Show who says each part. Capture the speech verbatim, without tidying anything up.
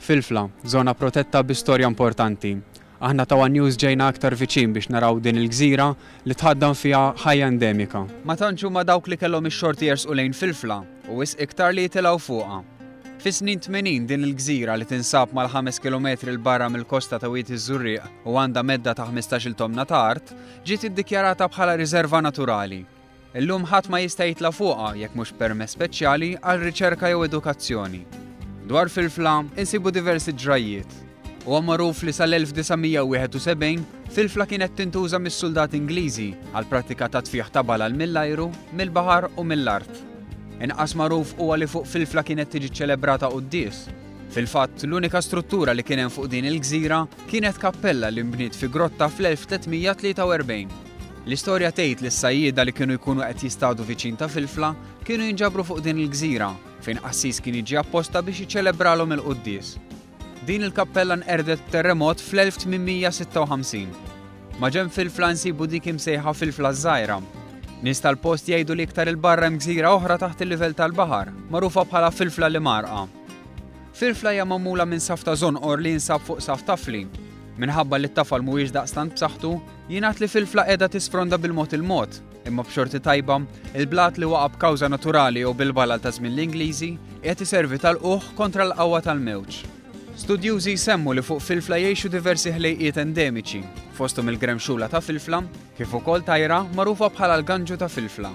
Speaker 1: Filfla, żona protetta bi storja importanti. Aħna ta' One News ġejna aktar viċin biex naraw din il-gżira li tħaddan fiha ħajja endemika. Ma tantx huma dawk li kellhom ix-xorti jersqu lejn Filfla u wisq iktar li jitilgħu fuqha. Fis-snin tmenin din il-gżira li tinsab mal-ħames kilometri 'l barra mill-kosta ta' Wied iż-Żurrieq u għandha medda ta' ħmistax-il tomna ta' art, ġiet iddikjarata bħala riserva naturali. Illum ħadd ma jista' jitla' fuqha jekk mhux permess speċjali għal riċerka jew edukazzjoni. Dwar Filfla insibu diversi ġrajjiet. Huwa magħruf li sal-elf disa' mija wieħed u sebgħin Filfla kienet tintuża mis-soldati Ingliżi għal prattika ta' tfieħ ta' balal mill-ajru, mill-baħar u mill-art. Inqas magħruf huwa li fuq Filfla kienet tiġi ċelebrata quddies. Fil-fatt, l-unika struttura li kien hemm fuq din il-gżira kienet kappella li nbniet fi grotta fl-elf tliet mija tlieta u erbgħin. L-istorja tgħid li s-sajjieda li kienu jkunu qed jistadu viċin ta' Filfla kienu jinġabru fuq din il-gżira fejn qassis kien jiġi apposta biex jiċċelebralhom il-quddies. Din il-kappella nqerdet b'terremot fl-elf tmien mija sitta u ħamsin. Ma' ġenb Filfla nsibu dik imsejħa Filfla żgħira. Nies tal-post jgħidu li iktar il-barra hemm gżira oħra taħt il-livell tal-baħar, magħrufa bħala Filfla li marqa. Filfla hija magħmula minn saf ta' żonqor li jinsab fuq saf tafli. Minħabba li t-tafal mhuwiex daqstant b'saħħtu, jingħad li Filfla qiegħda tisfronda bil-mod il-mod, imma b'xorti tajba, il-blat li waqa' b'kawża naturali jew bil-balal ta' żmien l-Ingliżi qiegħed iservi tal-quħ kontra l-qawwa tal-mewġ. Studjużi jsemmu li fuq Filfla jgħixu diversi ħlejqiet endemiċi, fosthom il-gremxula ta' Filfla, kif ukoll tajra magħrufa bħala l-ganġu ta' Filfla.